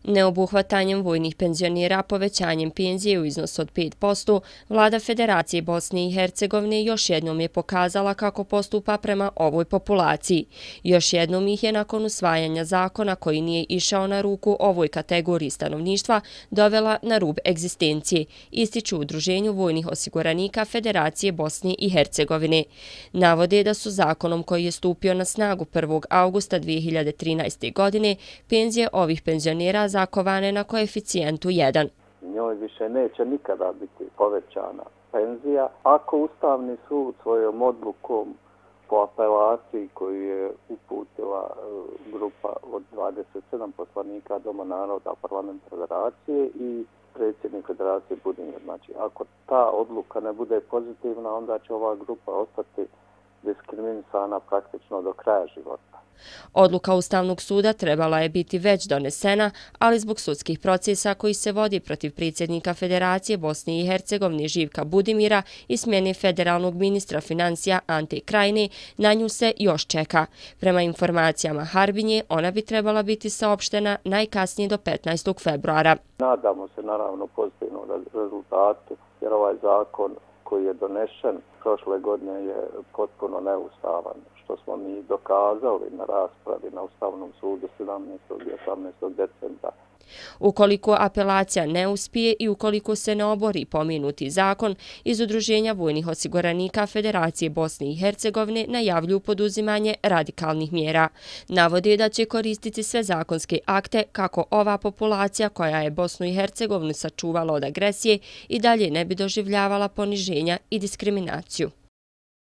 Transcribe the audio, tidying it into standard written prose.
Neobuhvatanjem vojnih penzionera povećanjem penzije u iznosu od 5%, vlada Federacije Bosne i Hercegovine još jednom je pokazala kako postupa prema ovoj populaciji. Još jednom ih je nakon usvajanja zakona koji nije išao na ruku ovoj kategoriji stanovništva dovela na rub egzistencije, ističu u Udruženju vojnih osiguranika Federacije Bosne i Hercegovine. Navode da su zakonom koji je stupio na snagu 1. augusta 2013. godine penzije ovih penzionera zakovane na koeficijentu 1. Njoj više neće nikada biti povećana penzija ako Ustavni sud svojom odlukom po apelaciji koju je uputila grupa od 27 poslanika Doma naroda parlamenta Federacije i predsjednik Federacije Budimir. Znači, ako ta odluka ne bude pozitivna, onda će ova grupa ostati diskriminisana praktično do kraja života. Odluka Ustavnog suda trebala je biti već donesena, ali zbog sudskih procesa koji se vodi protiv predsjednika Federacije Bosne i Hercegovine Živka Budimira i smjene federalnog ministra financija Ante Krajine, na nju se još čeka. Prema informacijama Harbinje, ona bi trebala biti saopštena najkasnije do 15. februara. Nadamo se naravno pozitivnom rezultatu, jer ovaj zakon koji je donešen prošle godine je potpuno neustavan, što smo mi dokazali na raspravi na Ustavnom sudu 17. i 18. decembra. Ukoliko apelacija ne uspije i ukoliko se ne obori pomenuti zakon, iz Udruženja vojnih osiguranika Federacije Bosne i Hercegovine najavljuju poduzimanje radikalnih mjera. Navode da će koristiti sve zakonske akte kako ova populacija koja je Bosnu i Hercegovinu sačuvala od agresije i dalje ne bi doživljavala poniženja i diskriminaciju.